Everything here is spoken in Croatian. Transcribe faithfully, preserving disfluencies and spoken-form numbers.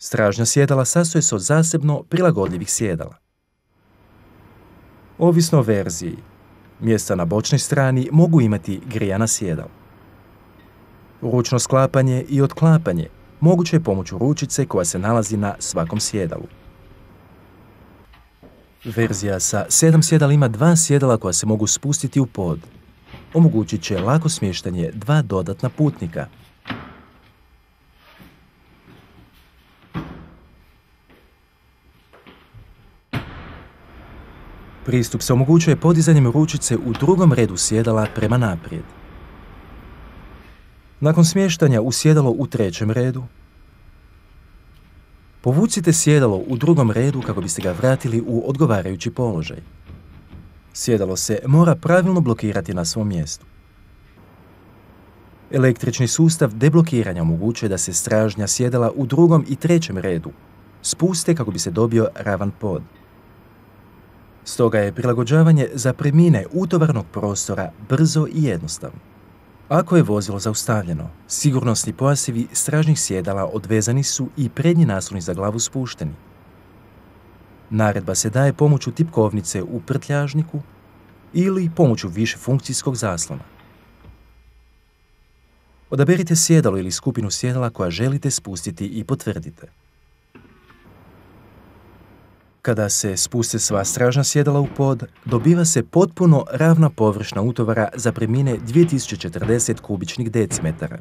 Stražnja sjedala sastoje se od zasebno prilagodljivih sjedala. Ovisno o verziji, mjesta na bočnoj strani mogu imati grijana sjedala. Ručno sklapanje i otklapanje moguće je pomoću ručice koja se nalazi na svakom sjedalu. Verzija sa sedam sjedala ima dva sjedala koja se mogu spustiti u pod. Omogućit će lako smještanje dva dodatna putnika. Pristup se omogućuje podizanjem ručice u drugom redu sjedala prema naprijed. Nakon smještanja u sjedalo u trećem redu, povucite sjedalo u drugom redu kako biste ga vratili u odgovarajući položaj. Sjedalo se mora pravilno blokirati na svom mjestu. Električni sustav deblokiranja omogućuje da se stražnja sjedala u drugom i trećem redu spuste kako bi se dobio ravan pod. Stoga je prilagođavanje zapremnine utovarnog prostora brzo i jednostavno. Ako je vozilo zaustavljeno, sigurnosni pojasevi stražnih sjedala odvezani su i prednji nasloni za glavu spušteni. Naredba se daje pomoću tipkovnice u prtljažniku ili pomoću višefunkcijskog zaslona. Odaberite sjedalo ili skupinu sjedala koja želite spustiti i potvrdite. Kada se spuste sva stražna sjedala u pod, dobiva se potpuno ravna površna utovara zapremnine dvije tisuće četrdeset kubičnih decimetara.